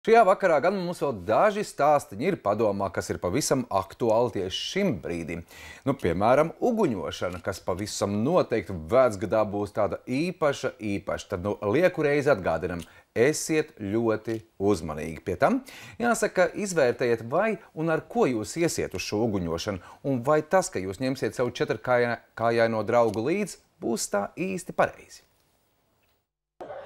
Šajā vakarā gan mums vēl daži stāstiņi ir padomā, kas ir pavisam aktuāli tieši šim brīdim. Piemēram, uguņošana, kas pavisam noteikti vecgadā būs tāda īpaša. Tad lieku reizi atgādinam, esiet ļoti uzmanīgi. Pie tam, jāsaka, izvērtējiet, vai un ar ko jūs iesiet uz šo uguņošanu, un vai tas, ka jūs ņemsiet savu četrkājaino draugu līdzi, būs tā īsti pareizi.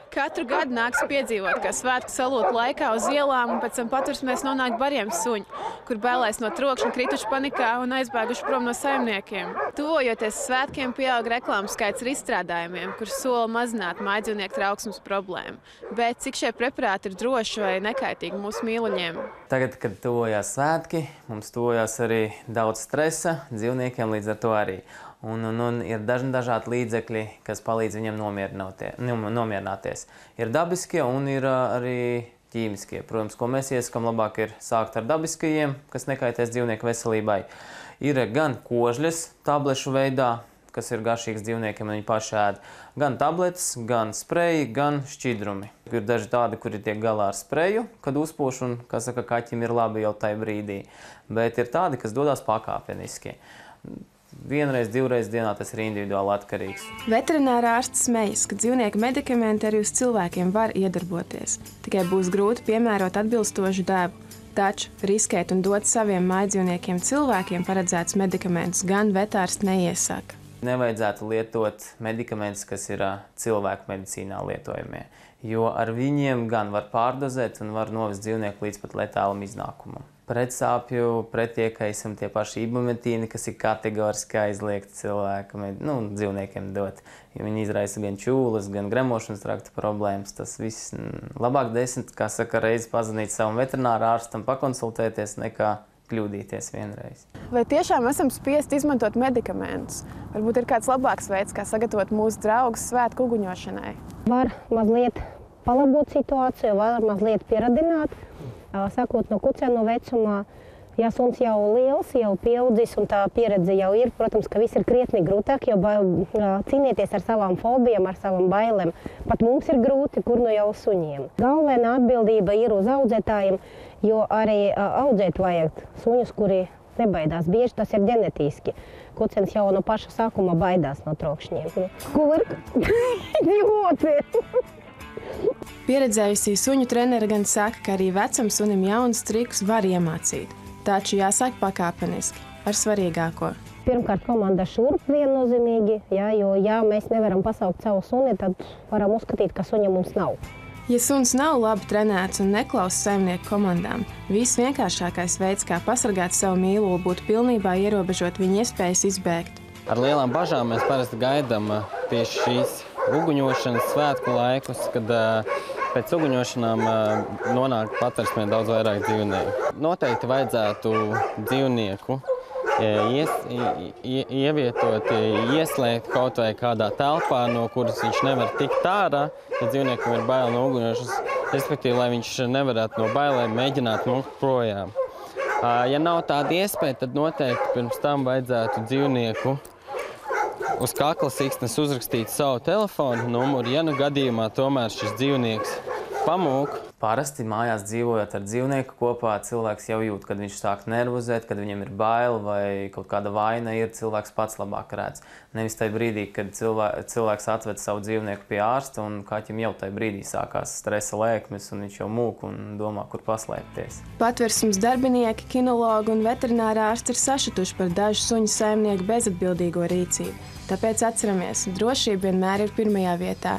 Katru gadu nāks piedzīvot, ka svētku salūtu laikā uz ielām un pēc tam patversmēs nonāk bariem suņi, kur bailēs no trokšņa, krituši panikā un aizbēguši prom no saimniekiem. Tuvojoties svētkiem, pieaug reklāmas skaits ar izstrādājumiem, kur sola mazināt mājdzīvnieku trauksmes problēmu. Bet cik šie preparāti ir droši vai nekaitīgi mūsu mīluļiem? Tagad, kad tuvojās svētki, mums tuvojās arī daudz stresa, dzīvniekiem līdz ar to arī. Un ir dažādi līdzekļi, kas palīdz viņam nomierināties. Ir dabiskie un ir arī ķīmiskie. Protams, ko mēs iesakām, labāk ir sākt ar dabiskajiem, kas nekaitēs dzīvnieku veselībai. Ir gan kožļas tablešu veidā, kas ir garšīgs dzīvniekiem un viņi paši ēd. Gan tabletes, gan spreji, gan šķidrumi. Ir daži tādi, kuri tiek galā ar spreju, kad uzpūš un, kā saka, kaķim ir labi jau tajā brīdī. Bet ir tādi, kas dodas pakāpeniski. Vienreiz, divreiz dienā tas ir individuāli atkarīgs. Veterinārā ārsts smejas, ka dzīvnieku medikamenti arī uz cilvēkiem var iedarboties. Tikai būs grūti piemērot atbilstošu devu. Taču riskēt un dot saviem mājdzīvniekiem cilvēkiem paredzētus medikamentus gan vetārsts neiesaka. Nevajadzētu lietot medikamentus, kas ir cilvēku medicīnā lietojamie, jo ar viņiem gan var pārdozēt un var novest dzīvnieku līdz pat letālam iznākumam. Pretsāpju, pretiekaisam tie paši ibumetīni, kas ir kategoriski aizliegti dzīvniekiem dot. Jo viņi izraisa gan čūlas, gan gremošanas trakta problēmas. Tas viss labāk 10, kā saka, reizi pazvanīt savam veterināra ārstam, pakonsultēties, nekā kļūdīties vienreiz. Vai tiešām esam spiesti izmantot medikamentus? Varbūt ir kāds labāks veids, kā sagatavot mūsu draugus svētku uguņošanai? Var mazliet palabot situāciju, var mazliet pieradināt. Sākot no kucēnu vecumā, ja suns jau liels, jau pieaudzis un tā pieredze jau ir, protams, ka viss ir krietni grūtāk, jo cīnīties ar savām fobijām, ar savām bailēm. Pat mums ir grūti, kur no jau suņiem. Galvenā atbildība ir uz audzētājiem, jo arī audzēt vajag suņus, kuri nebaidās. Bieži tas ir ģenetiski. Kucēns jau no paša sākuma baidās no trokšņiem. Kurk? Ļoti! Pieredzējusī suņu treneri gan saka, ka arī vecam sunim jaunus trikus var iemācīt. Taču jāsāk pakāpeniski, ar svarīgāko. Pirmkārt, komanda šurp viennozīmīgi, jo ja mēs nevaram pasaukt savu suni, tad varam uzskatīt, ka suņa mums nav. Ja suns nav labi trenēts un neklausa saimnieku komandām, visvienkāršākais veids, kā pasargāt savu mīluli, būtu pilnībā ierobežot viņa iespējas izbēgt. Ar lielām bažām mēs parasti gaidām tieši šīs uguņošanas svētku laikus, kad pēc uguņošanām nonāk patversmē daudz vairāk dzīvnieku. Noteikti vajadzētu dzīvnieku ievietot, ieslēgt kaut vai kādā telpā, no kuras viņš nevar tikt ārā, ja dzīvniekam ir baila no uguņošanas, respektīvi, lai viņš nevarētu no bailēm mēģināt mukt projām. Ja nav tāda iespēja, tad noteikti pirms tam vajadzētu dzīvnieku uz kakla siksnas uzrakstīt savu telefonu numuru, ja nu gadījumā tomēr šis dzīvnieks pamūk. Parasti mājās dzīvojot ar dzīvnieku kopā, cilvēks jau jūt, kad viņš sāk nervozēt, kad viņam ir baila vai kaut kāda vaina ir, cilvēks pats labāk redz. Nevis tajā brīdī, kad cilvēks atved savu dzīvnieku pie ārsta un kaķim jau tajā brīdī sākās stresa lēkmes un viņš jau mūk un domā, kur paslēpties. Patversmes darbinieki, kinologi un veterinārā ārsti ir sašutuši par dažu suņu saimnieku bezatbildīgo rīcību. Tāpēc atceramies, drošība vienmēr ir pirmajā vietā.